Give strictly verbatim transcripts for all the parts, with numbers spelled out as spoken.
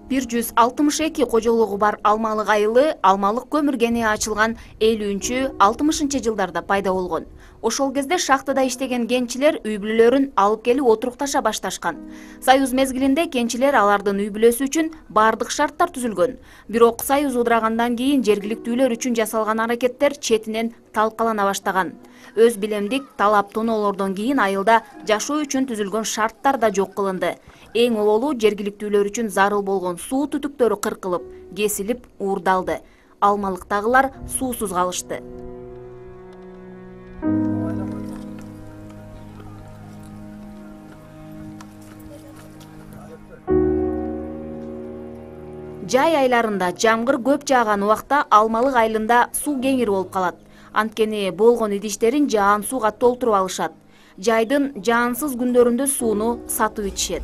бир жүз алтымыш эки кожолугу бар Алмалык айылы Алмалык көмүр кени ачылган элүүнчү алтымышынчы жылдарда пайда болгон. Ошол кезде шахтада иштеген кенчилер үй бүлөлөрүн алып келип отурукташа башташкан. Союз мезгилинде кенчилер алардын үй бүлөсү үчүн бардык шарттар түзүлгөн. Бирок Союз удурагандан кийин жергиликтүүлөр үчүн жасалган аракеттер четинен талкалана баштаган. Өз билемдик талап тоноолордон кийин айылда жашоо үчүн түзүлгөн шарттар да жок кылынды. Эң оболу жергиликтүүлөр үчүн зарыл болгон суу түтүктөрү кыркылып, кесилип, уурдалды. Алмалыктагылар суусуз калышты. Жай айларында жамгыр көп жааган убакта Алмалык айылында суу кеңир болуп калат. Анткени болгон идиштерин жаан сууга толтуруп алышат. Жайдын жаансыз күндөрүндө сууну сатып ичишет.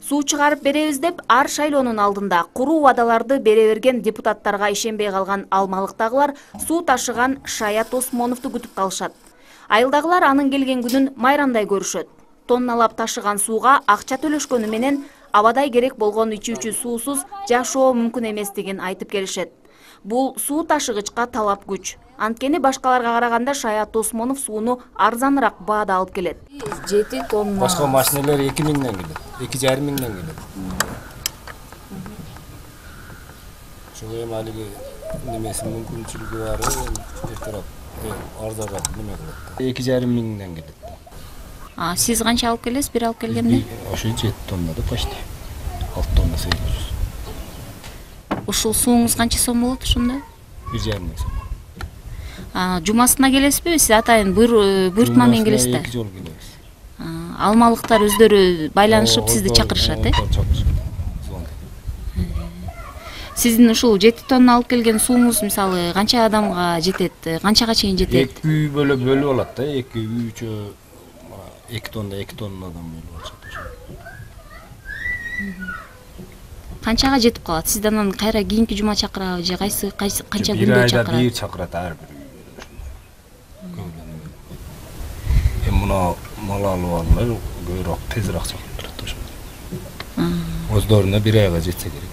Суу чыгарып беребиз деп ар шайлоонун алдында куруу убадаларды бере берген депутаттарга ишенбей калган Алмалыктагылар суу ташыган Шаят Осмоновду күтүп калышат. Айылдагылар анын келген күнүн майрамдай көрүшөт. Тонналап ташыган сууга акча төлөшкөнү менен абадай керек болгон ичүүчү суусуз жашоо мүмкүн эместигин айтып келишет. Бул суу ташыгычка талап күч. Анткени башкаларга караганда Шаят Осмонов сууну арзаныраак баада алып келет. жети тонна. Башка машиналар эки миңден келет, эки жарым миңден келет. Ошого эми алиги немеси мүмкүнчүлүгү бар, эртерээк арзаныраак неме кылат. эки жарым миңден келет. А сиз канча алып келесиз бир алып келгенде? Ошо жети тонна да почти. алты тонна сегиз жүз. Ушул сууңуз канча сом болот ошондо? бир жарым миң сом. А жумасына келесизби? Сиз атайын буйрутма менен келесиз да? эки жолу келебиз. Алмалыктар өздөрү байланышып сизди чакырышат, э? Сиздин ушул жети тонна алып келген сууңуз мисалы канча адамга жетет? Канчага чейин жетет? эки үй бөлөп бөлүп алат да, эки үйчө эки тонна, эки тоннадан бөлүп алышат ошо. Канчага жетип калат? Сиз анан кайра кийинки жума чакырабы же кайсы канча күндө чакырат? чакырат? Бир айда бир чакырат ар бир үй. Эми мына мал алып алуулар көбүрөөк тезирээк чакырып турат ошо. Өздөрүнө бир айга жетсе керек.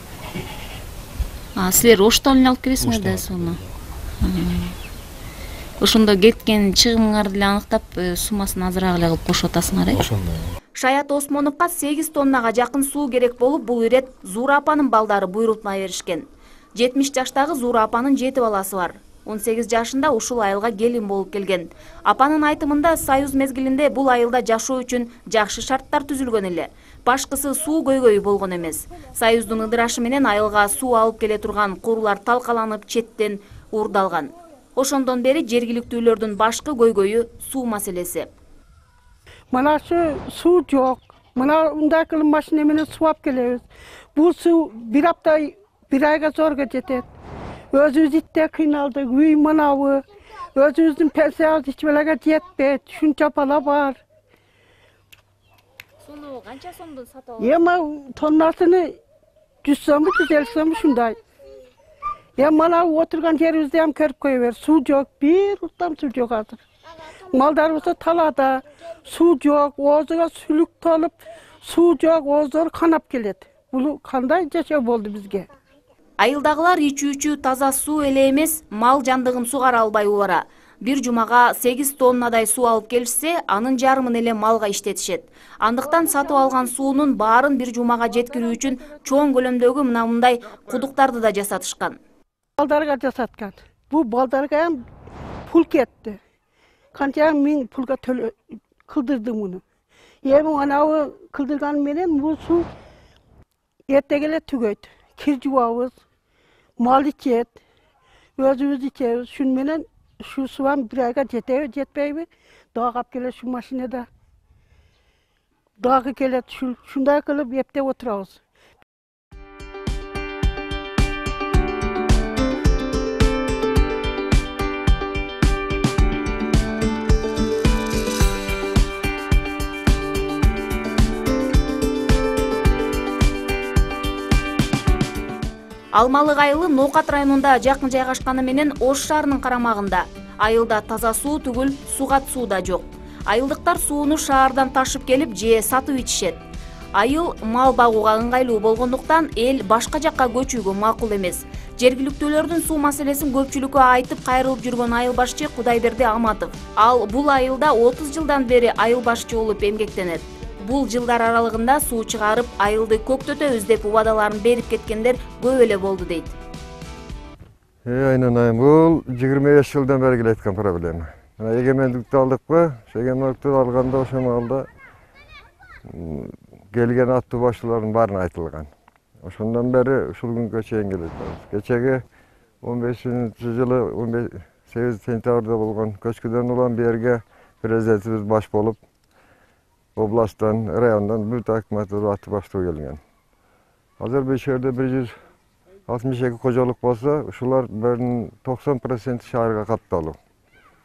А силер оштон эле алып келесиңер да сууну? Ошондо кеткен чыгымыңарды деле аныктап, суммасын азыраак эле кылып кошуп атасыңар, э? Ошондой. Шаят Осмоновго сегиз тоннага жакын суу керек болуп, бул ирет Зуура апанын балдары буйрутма беришкен. жетимиш жаштагы Зуура апанын жети баласы бар. он сегиз жашында ушул айылга келин болуп келген. Апанын айтымында Союз мезгилинде бул айылда жашоо үчүн жакшы шарттар түзүлгөн эле. Башкысы суу көйгөйү болгон эмес. Союздун ыдырашы менен айылга суу алып келе турган курулар талкаланып четтен уурдалган. Ошондон бери жергиликтүүлөрдүн башкы көйгөйү суу маселеси. Мына şu суу жок. Мына мындай кылып машина менен суу алып келебиз. Бул суу бир апта, бир айга зорго жетет. Өзүбүз итте кыйналдык, үй мынабы. Өзүбүздүн пенсиябыз эч белеге жетпейт. Шунча бала бар. Суну канча сомдон сатып аласыз? Эми тоннасыны жүз сомбу, жүз элүү сомбу шундай. Эми мына отурган жерибизди ham көрүп кое бер. Суу жок, бир уктам суу жок азыр. Малдарыбыз талада, суу жок, оозуга сүлүк толуп, суу жок, ооздор канап келет. Бул кандай жашоо болду бизге? Айылдагылар ичүүчү таза суу эле эмес, мал жандыгын сугара албай убара. Бир жумага сегиз тоннадай суу алып келишсе, анын жарымын эле малга иштетишет. Андыктан сатып алган суунун баарын бир жумага жеткирүү үчүн чоң көлөмдөгү мына мындай кудуктарды да жасатышкан. Балдарга жасаткан. Бул балдарга ham пул кетти. Канча миң пулга төлө кылдырды муну. Эми анабы кылдырган менен бул суу эртеге эле түгөйт. Кир жуабыз, мал ичет, өзүбүз ичебиз. Шун менен шу суам бир айга жетеби, жетпейби? Дагы алып келет шу машинада. Дагы келет, шундай кылып эптеп отурабыз. Алмалык айылы Ноокат районунда жакын жайгашканы менен Ош шаарынын карамагында. Айылда таза суу түгүл, сугат суу да жок. Айылдыктар сууну шаардан ташып келип же сатып ичишет. Айыл мал багууга ыңгайлуу болгондуктан эл башка жакка көчүүгө макул эмес. Жергиликтүүлөрдүн суу маселесин көпчүлүккө айтып кайрылып жүргөн айыл башчы Кудайберди Аматов. Ал бул айылда отуз жылдан бери айыл башчы болуп эмгектенет. Бул жылдар аралыгында суу чыгарып, айылды көктөтөбүз деп убадаларын берип кеткендер көп эле болду дейт. Айнанайым, бул жыйырма беш жылдан бери келаткан проблема. Эгемендикти алдыкпы? Эгемендикти алганда ошол маалда келген аттуу башчылардын баарын айтылган. Ошондон бери ушул күнгө чейин келет. Кечеги он бешинчи жылы он сегизинчи сентябрда болгон көчкүдөн улам берге президентибиз баш болуп, областтан, райондан бүт акиматтар аттуу баштоо келген. Азыр бул жерде бир жүз алтымыш эки кожолук болсо, ушулар токсон проценти шаарга катталуу.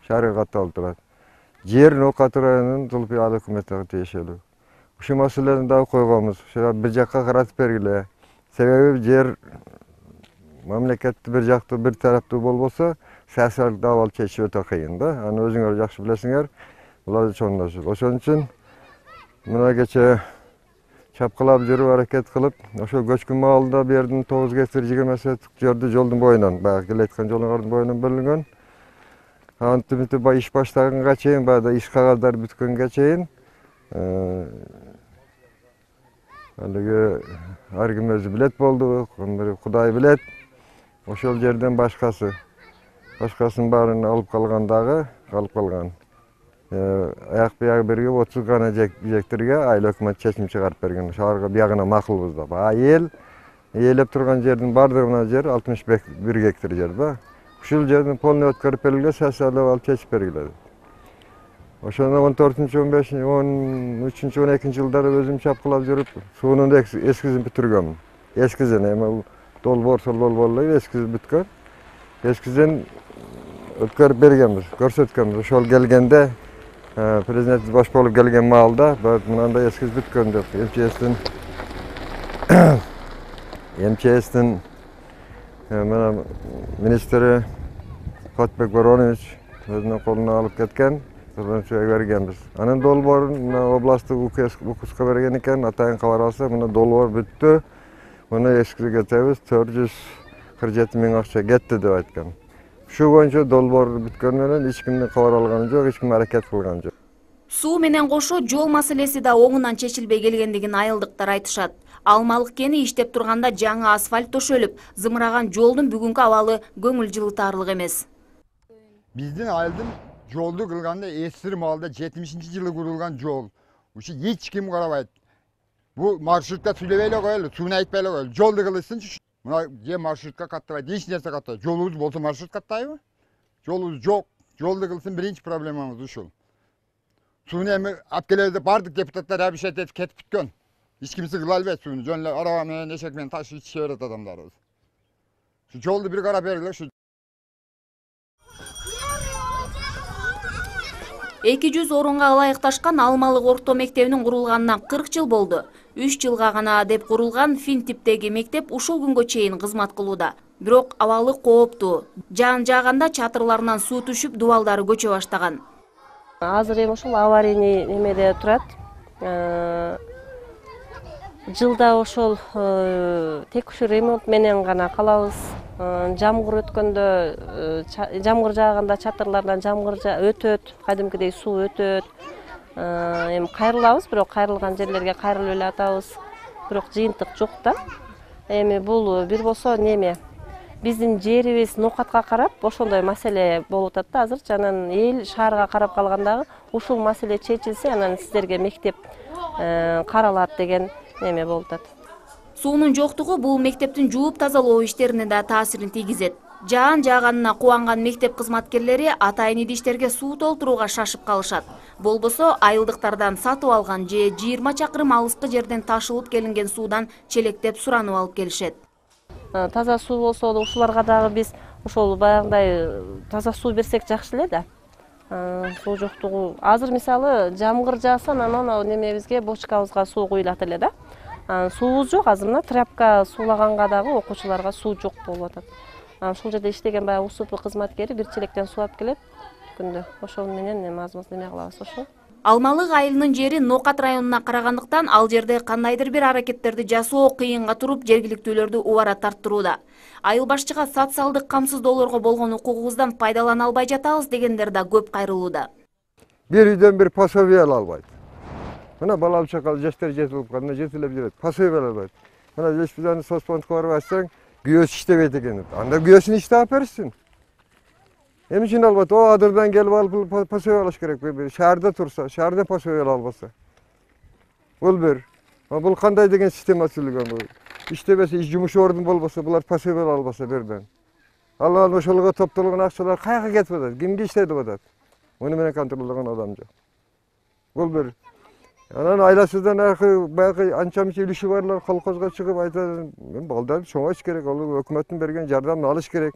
Шаарга катталып турат. Жер Нокаты районунун Зулпиал өкмөтүнө тиешелүү. Ушул маселени дагы койгонбуз. Ошо бир жакка каратып бергиле. Себеби жер мамлекетти бир жактуу, бир тараптуу болбосо, саясий абал чечүү өтө кыйын да. Аны өзүңөр жакшы билесиңер. Булар чоңдошот. Ошон үчүн мына кече чапкылап жүрүп аракет кылып, ошо көчкүн маалында бердин тогуз гектар жыйырма соток жерди жолдун боюнан, баягы келаткан жолдун боюнан бөлүнгөн. Антимити бай иш баштаганга чейин, баягы иш кагаздар бүткөнгө чейин алыгы ар ким өзү билет болду, Кудай билет. Ошол жерден башкасы, башкасын баарын алып калган дагы, калып калган. Аяк биягы бирге отуз гана жектерге айыл өкмөт чечим чыгарып берген. Шаарга биягына макулбуз деп. А эл ээлеп турган жердин бардыгына жер алтымыш бир гектар жер да. Ушул жердин полный өткөрүп берилген, саясий алып чечип бергиле. Ошондо он төртүнчү, он бешинчи, он үчүнчү, он экинчи жылдары өзүм чапкылап жүрүп, суунун эскизин бүтүргөмүн. Эскизин, эми долбоор, сол долбоор эле эскизи бүткөн. Эскизин өткөрүп бергенбиз, көрсөткөнбүз. Ошол келгенде президент баш болуп келген маалда мынандай эскиз бүткөн деп МЧСтин МЧСтин мына министри Котбек Воронович өзүнүн колуна алып кеткен. Бергенбиз. Анын долбоорун мына областтык укуска берген экен, атайын кабар алса, мына долбоор бүттү. Муну эскизи кетебиз, төрт жүз кырк жети миң акча кетти деп айткан. Ушул боюнча долбоор бүткөн менен эч кимдин кабар алганы жок, эч ким аракет кылган жок. Суу менен кошо жол маселеси да оңунан чечилбей келгендигин айылдыктар айтышат. Алмалык кени иштеп турганда жаңы асфальт төшөлүп, зымыраган жолдун бүгүнкү абалы көңүл жылытарлык эмес. Биздин айылдын жолду кылганда эсир маалда жетимишинчи жылы курулган жол. Ушу эч ким карабайт. Бу маршрутка сүйлөбөй эле коелу, сууну айтпай эле коелу. Жолду кылышсынчы. Мына же маршрутка каттабайт, эч нерсе каттабайт. Жолубуз болсо маршрут каттайбы? Жолубуз жок. Жолду кылсын, биринчи проблемабыз ушул. Сууну эми алып келебиз деп бардык депутаттар абишет этип кетип бүткөн. Эч кимси кыла албайт сууну. Жөн эле араба менен, эшек менен ташып ичише берет адамдарыбыз. Ушу жолду бир карап бергиле ушу. эки жүз орунга ылайыкташкан Алмалык орто мектебинин курулганына кырк жыл болду. үч жылга гана деп курулган фин типтеги мектеп ушул күнгө чейин кызмат кылууда. Бирок абалы кооптуу. Жаан жааганда чатырларынан суу түшүп, дубалдары көчө баштаган. Азыр эми ушул аварийный немеде турат. Жылда ошол текшүү ремонт менен гана калабыз. Жамгыр өткөндө, жамгыр жааганда чатырлардан жамгыр өтөт, кадимкидей суу өтөт. Эми кайрылабыз, бирок кайрылган жерлерге кайрылып эле атабыз. Бирок жыйынтык жок да. Эми бул бир болсо неме? Биздин жерибиз Нокатка карап, ошондой маселе болуп атат да азыр. Анан эл шаарга карап калгандагы ушул маселе чечилсе, анан сиздерге мектеп каралат деген неме болуп атат. Суунун жоктугу бул мектептин жууп тазалоо иштерине да таасирин тийгизет. Жаан жааганына кубанган мектеп кызматкерлери атайын идиштерге суу толтурууга шашып калышат. Болбосо айылдыктардан сатып алган же жыйырма чакырым алыскы жерден ташылып келинген суудан челектеп суранып алып келишет. Таза суу болсо ушуларга дагы биз ошол баягындай таза суу берсек жакшы эле да. Суу жоктугу. Азыр мисалы жамгыр жааса, анан немебизге бочкабызга суу куюлат эле да. Суубуз жок, азыр мына тряпка суулаганга дагы окуучуларга суу жок болуп атат. Анан ушул жерде иштеген баягы УСУП кызматкери бир челектен суу алып келет күндө. Ошол менен эми аз-маз неме кылабыз ошол. Алмалык айылынын жери Нокат районуна карагандыктан ал жерде кандайдыр бир аракеттерди жасоо кыйынга туруп жергиликтүүлөрдү убара тарттырууда. Айыл башчыга социалдык камсыздоолорго болгон укугубуздан пайдалана албай жатабыз дегендер да көп кайрылууда. Бир үйдөн бир пособие ала албайт. Мына балалы чакал жаштар жетип калганда жетилеп жүрөт. Пособие ала албайт. Мына жештүүдөн соцфондко барып айтсаң, күйөөсү иштебейт экен. Анда күйөөсүн иштеп берсин. Эми үчүн албайт. О, адырдан келип алып пособие алыш керек. Шаарда турса, шаарда пособие ала албаса. Бул бир. Бул кандай деген система түзүлгөн бул? Иштебесе, иш жумуш ордун болбосо, булар пособие ала албаса берден. Алар ошолго топтолгон акчалар кайга кетип атат? Кимге иштетип атат? Муну менен контролдогон адам жок. Бул бир. Анан айласыздан аркы баягы анча-мынча үлүшү барлар колхозго чыгып айтат, мен балдар чоңош керек, ал өкмөттүн берген жардамын алыш керек.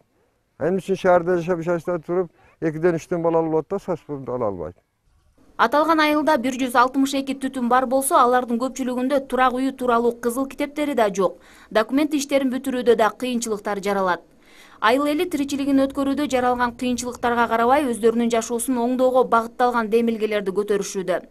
Эми үчүн шаарда жашап жашта туруп, экиден үчтөн бала алып атат, соцфонд ала албайт. Аталган айылда бир жүз алтымыш эки түтүн бар болсо, алардын көпчүлүгүндө турак үйү тууралуу кызыл китептери да жок. Документ иштерин бүтүрүүдө да кыйынчылыктар жаралат. Айыл эли тиричилигин өткөрүүдө жаралган кыйынчылыктарга карабай, өздөрүнүн жашоосун оңдоого багытталган демилгелерди көтөрүшүүдө.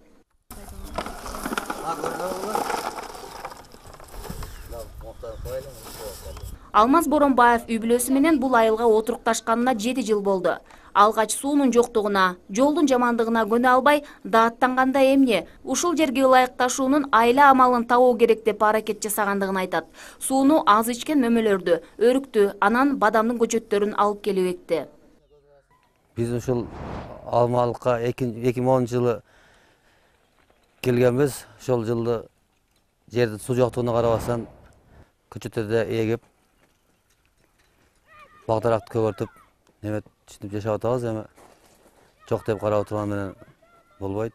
Алмаз Боронбаев үй бүлөсү менен бул айылга отурукташканына жети жыл болду. Алгач суунун жоктугуна, жолдун жамандыгына көнө албай, дааттанганда эмне, ушул жерге ылайыкташуунун айла амалын табуу керек деп аракет жасагандыгын айтат. Сууну аз ичкен мөмөлөрдү, өрүктү, анан бадамдын көчөттөрүн алып келип экти. Биз ушул Алмалыкка эки миң онунчу жылы келгенбиз. Ошол жылы жерде суу жоктугуна карабастан көчөттөрдү эгип, багдаракты көгөртүп, неме түшүнүп жашап атабыз. Эми жок деп карап турган менен болбойт.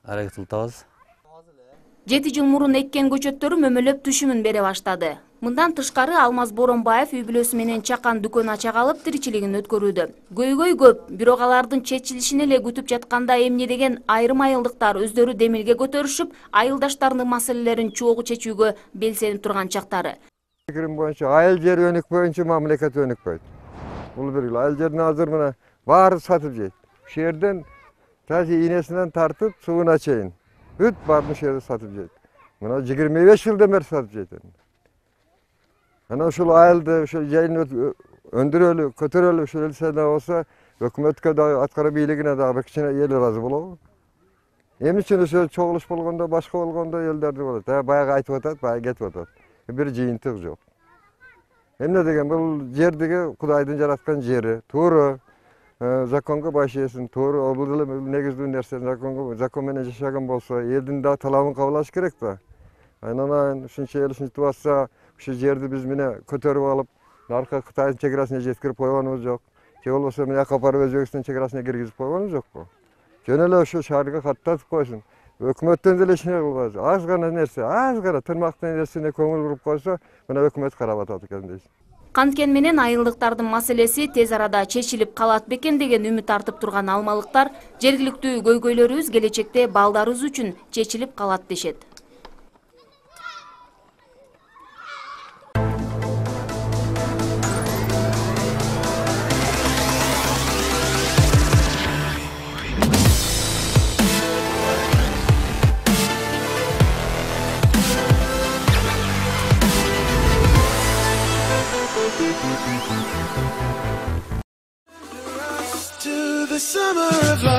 Аракет кылабыз. Жети жыл мурун эккен көчөттөрү мөмөлөп түшүмүн бере баштады. Мындан тышкары Алмаз Боронбаев үй бүлөсү менен чакан дүкөн ача калып тиричилигин өткөрүүдө. Көйгөй көп, бирок алардын чечилишин эле күтүп жатканда эмне деген айрым айылдыктар өздөрү демилге көтөрүшүп, айылдаштарынын маселелерин чогуу чечүүгө белсенип турган чактары. Фикирим боюнча айыл жери өнүкпөйүнчө мамлекет өнүкпөйт. Бул бир айыл жерин азыр мына баары сатып жейт. Ушул жерден таза ийнесинен тартып сууна чейин бүт баарын ушул жерде сатып жейт. Мына жыйырма беш жылдан бери сатып жейт. Ana uşul ayıldı, uşul yayın öndürölü, kötürölü, uşul elsene olsa hökümetke da atkara biyiligine da bekçine yeli razı bolu. Emin için uşul çoğuluş bolganda, başka bolganda yelderdi bolu. Ta bayağı aytıp atat, bayağı getip atat. Bir jıyıntık yok. Emne degen bu yerdeki Kudaydın jaratkan jeri, tuğru, zakonga başlayasın, tuğru, obuldalı negizli nersen zakonga, zakon menen yaşagan bolsa, eldin da talabın kabulaş gerek da. Aynen uşuncha el uşuncha tuvatsa, uşu жерди биз міне көтөрүп алып, наркы Кытайдын чекарасына жеткирип койгонубуз жок. Же болбосо мына капарып Өзбекстин чекарасына киргизип койгонубуз жокпу? Жөн эле ошо шаарга каттатып койсун. Өкмөттөн деле эч нерсе кылбайбыз. Аз гана нерсе, аз гана тырмактын нерсине көңүл буруп койсо, мына өкмөт карап атат экен дейсиз. Канткен менен айылдыктардын маселеси тез арада чечилип калат бекен деген үмүт артып турган алмалыктар, жергиликтүү көйгөйлөрүбүз келечекте балдарыбыз үчүн чечилип калат дешет. To the summer of life.